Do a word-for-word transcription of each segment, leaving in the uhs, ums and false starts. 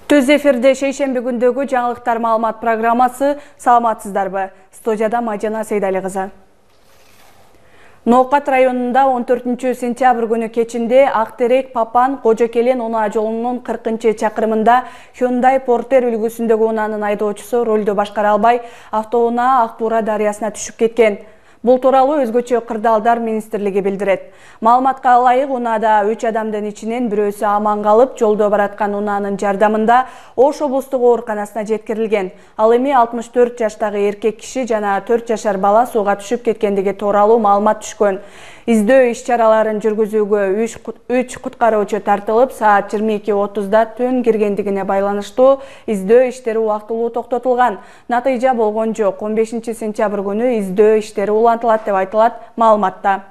Түз эфирде шейшемби күндөгү жаңылыктар маалымат программасы. Саламатсыздарбы? Студияда Мажана Сейдали кызы. Ноокат районунда он төртүнчү сентябрь күнү кечинде Актерек Папан Кожокелен унаа жолунун кыркынчы чакырымында Hyundai Porter үлгүсүндөгү унаанын айдоочусу рөлдү башкара албай автоунаа Ак Буура дарыясына түшүп кеткен. Бул тууралуу өзгөчө кырдаалдар министрлиги билдирет. Маалыматка ылайык, унаада үч адамдын ичинен бирөөсү аман калып, жолдо бараткан унаанын жардамында Ош облустук ооруканасына жеткирилген. Ал эми алтымыш төрт жаштагы эркек киши жана төрт жашар бала сууга түшүп кеткендиги тууралуу маалымат түшкөн. Издөө иш-чараларын жүргүзүүгө үч куткаруучу тартылып, саат жыйырма эки отузда түн киргендигине байланыштуу издөө иштери убактылуу токтотулган. Натыйжа болгон жок. он бешинчи сентябрь күнү издөө иштери улантылат деп айтылат маалыматта.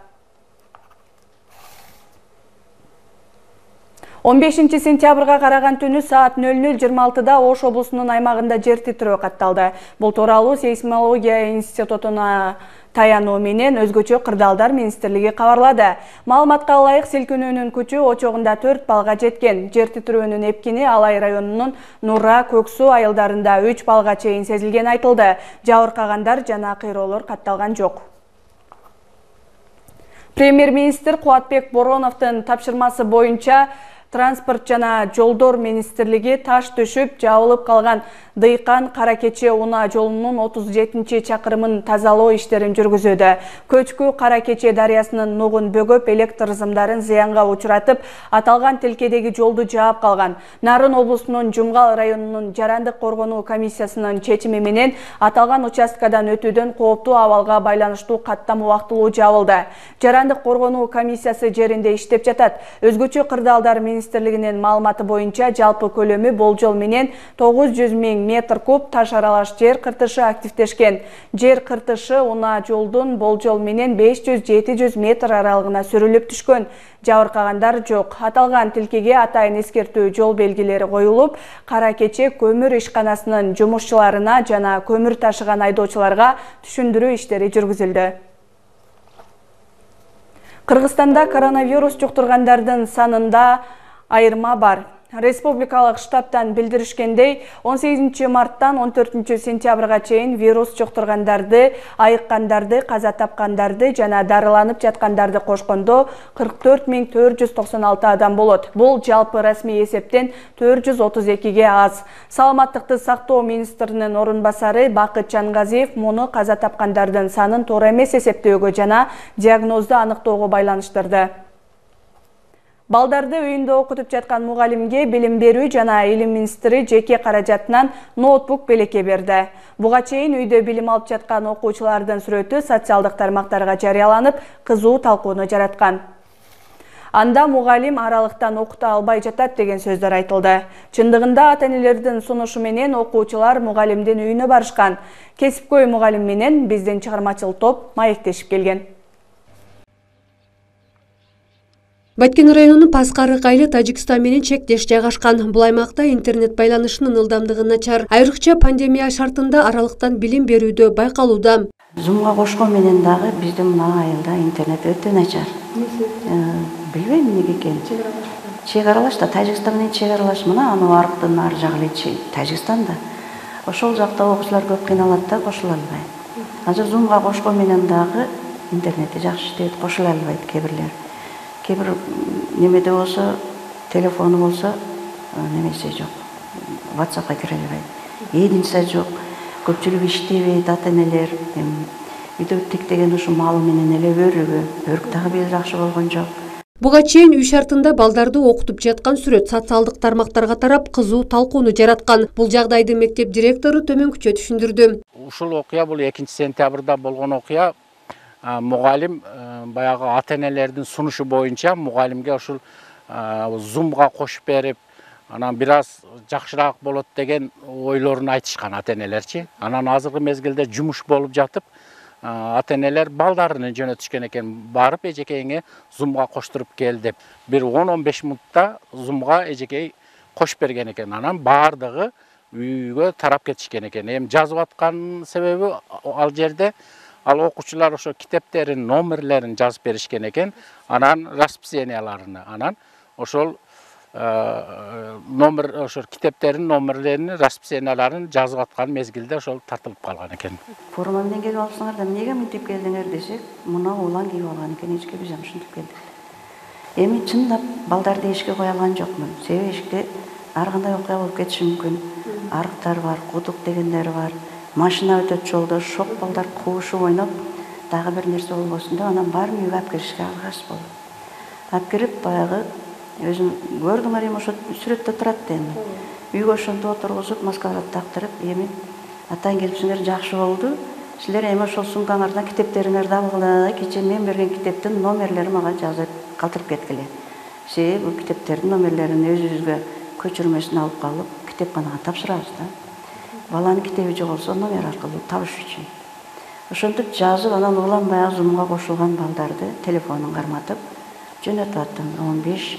он бешинчи сентябрга караган түнү саат нөл нөл жыйырма алтыда Ош облусунун аймагында жер титирөө катталды. Бул тууралуу сейсмология институтуна таянуу менен өзгөчө кырдаалдар министрлиги кабарлады. Маалыматка ылайык, силкинүүнүн күчү очогунда төрт балга жеткен. Жер титирөөнүн эпкини Алай районунун Нура, Көксу айылдарында үч балга чейин сезилген айтылды. Жабыркагандар жана кыйроолор катталган жок. Премьер-министр Кубатбек Бороновдун тапшырмасы боюнча Транспорт жана жолдор министрлиги таш түшүп жабылып калган Дыйкан Каракече унаа жолунун отуз жетинчи чакырымын тазалоо иштерин жүргүзүүдө. Көчкү Каракече дарыясынын нугун бөгөп, электр зымдарын зыянга учуратып, аталган тилкедеги жолду жаап калган. Нарын облусунун Жумгал районунун жарандык коргонуу комиссиясынын чечими менен аталган участкадан өтүүдөн кооптуу абалга байланыштуу каттам убактылуу жабылды. Жарандык коргонуу комиссиясы жеринде иштеп жатат. Өзгөчө кырдаалдар министрлигинин маалыматы боюнча жалпы көлөмү болжол менен тогуз жүз миң метр куб таш аралаш жер кыртышы активдешкен. Жер кыртышы унаа жолдун болжол менен беш жүз — жети жүз метр аралыгына сүрүлүп түшкөн. Жабыркагандар жок. Аталган тилкеге атайын эскертүү жол белгилери коюлуп, Каракече көмүр ишканасынын жумушчуларына жана көмүр ташыган айдоочуларга түшүндүрүү иштери жүргүзүлдү. Кыргызстанда коронавирус жуктургандардын санында айырма бар. Республикалык штабтан билдиришкендей, он сегизинчи марттан он төртүнчү сентябрга чейин вирус жуктургандарды, айыккандарды, каза тапкандарды жана дарыланып жаткандарды кошкондо кырк төрт миң төрт жүз токсон алты адам болот. Бул жалпы расмий эсептен төрт жүз отуз экиге аз. Саламаттыкты сактоо министринин орун басары Бакыт Чангазиев муну каза тапкандардын санын туура эмес эсептөөгө жана диагнозду аныктоого байланыштырды. Балдарды үйүндө окутуп жаткан мугалимге билим берүү жана илим министри жеке каражатынан ноутбук белекке берди. Буга чейин үйдө билим алып жаткан окуучулардын сүрөтү социалдык тармактарга жарыяланып, кызуу талкууну жараткан. Анда мугалим аралыктан окута албай жатат деген сөздөр айтылды. Чындыгында ата-энелердин сунушу менен окуучулар мугалимдин үйүнө барышкан. Кесипкөй мугалим менен биздин чыгармачыл топ маектешип келген. Баткен районунун Паскарык айылы Тажикстан менен чектеш жайгашкан. Бул аймакта интернет байланышынын ылдамдыгы начар. Айрыкча пандемия шартында аралыктан билим берүүдө байкалууда. Зумга кошкон менен дагы биздин мына айылда интернет өтө начар. Билбейм эмнеге экенин. Чек аралаш да, Тажикстан менен чек аралаш, мына анын арктын ар жагы Тажикстанда. Ошол жакта окуучулар көп кыйналат да, кошула албайт. Азыр Зумга кошкон менен дагы интернети жакшы иштейт, кошула албайт кээ бирлер. Кээ бир немеде болсо, телефону болсо, немесе жок. WhatsAppка кире албайт. Единсе жок. Көпчүлүк иштебейт, ата-энелер. Үйдө тиктеген ушу малы менен эле өрүгү, өрүк дагы бир жакшы болгон жок. Буга чейин үй шартында балдарды окутуп жаткан сүрөт социалдык тармактарга тарап кызуу талкууну жараткан. Бул жагдайды мектеп директору төмөнкүчө түшүндүрдү. Ушул окуя бул экинчи сентябрда болгон окуя. Мугалим баягы ата-энелердин сунушу боюнча мугалимге ушул Зумга кошуп берип, анан бир аз жакшыраак болот деген ойлорун айтышкан ата-энелерчи. Анан азыркы мезгилде жумуш болуп жатып, ата-энелер балдарын жөнөтүшкөн экен, барып эжекейиңе Зумга коштуруп кел деп. Бир он — он беш мүнөттө Зумга эжекей кошуп берген экен. Анан баардыгы үйгө тарап кетишкен экен. Эми жазып аткан себеби ал жерде ал окуучулар ошо китептерин номерлерин жазып беришкен экен, анан расписанияларыны, анан ошол номер ошо китептердин номерлерин, расписанияларын жазып аткан мезгилде ошол тартылып калган экен. Форма менен келип алсаңар да эмнеге мынтип келдиңер десек, мына улан кийип алган экен, эчке биз ушинтип келдик. Эми чындап балдарды эшикке кое алган жокмун. Себеби эшикте ар кандай окуя болуп кетиши мүмкүн. Арыктар бар, кудук дегендер бар. Машина өтөт жолдо, шок балдар куушуп ойноп, дагы бир нерсе болбосун деп анан баарын үйгө алып киришке алгаш болду. Алып кирип баягы өзүм көрдүңөр эми ошо сүрөттө турат да эми. Үйгө ошентип отургузуп, маскаларды тактырып, эми атаң келипсиңер жакшы болду. Силер эми ошол сумкаңардан китептериңерди алгыла, кечээ мен берген китептин номерлери мага жазып калтырып кеткиле. Себеби бул китептердин номерлерин өзүбүзгө көчүрмөсүн алып калып, китепканага тапшырабыз да. Баланын китеби жоголсо номер аркылуу табыш үчүн. Ошентип жазып, анан улам баягы зумга кошулган балдарды телефонун карматып жөнөтүп аттым. он беш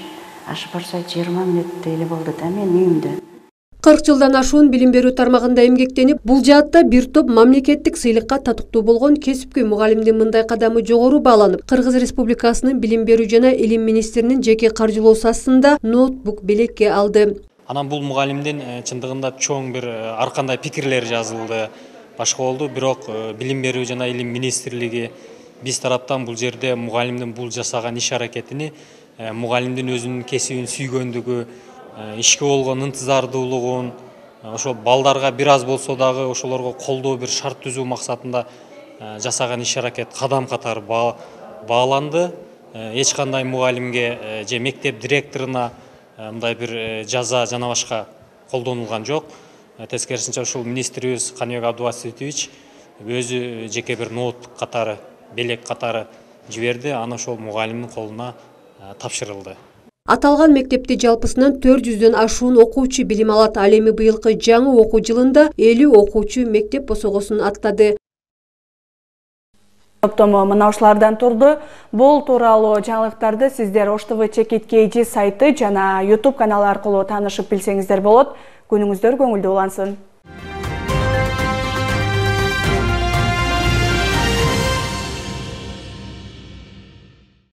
ашып барса жыйырма мүнөттөй эле болду да мен үйүмдө. кырк жылдан ашуун билим берүү тармагында эмгектенип, бул жаатта бир топ мамлекеттик сыйлыкка татыктуу болгон кесипкөй мугалимдин мындай кадамы жогору бааланып, Кыргыз Республикасынын билим берүү жана илим министринин жеке каржылоосу астында ноутбук белекке алды. Анан бул мугалимдин чындыгында чоң бир ар кандай пикирлер жазылды, башка болду. Бирок билим берүү жана илим министрлиги биз тараптан бул жерде мугалимдин бул жасаган иш аракетини мугалимдин өзүнүн кесибин сүйгөндүгү, ишке болгон ынтызардуулугун, ошо балдарга бир аз болсо дагы ошолорго колдоо бир шарт түзүү максатында жасаган иш аракет кадам катары бааланды. Эч кандай мугалимге же мектеп директоруна мындай бир жаза жана башка колдонулган жок. Тескерисинче ушул министрибиз Каныбек Абдубаситович өзү жеке бир ноутбук катары, белек катары жиберди, аны ошол мугалимдин колуна тапшырылды. Аталган мектепти жалпысынан төрт жүздөн ашуун окуучу билим алат. Ал эми быйылкы жаңы окуу жылында элүү окуучу мектеп босогосун аттады. Топтому мына ушулардан турду. Бул тууралуу жаңылыктарды сиздер Ош ТВ Чекит Кей сайты жана YouTube каналы аркылуу таанышып билсеңиздер болот. Күнүңүздөр көңүлдүү улансын.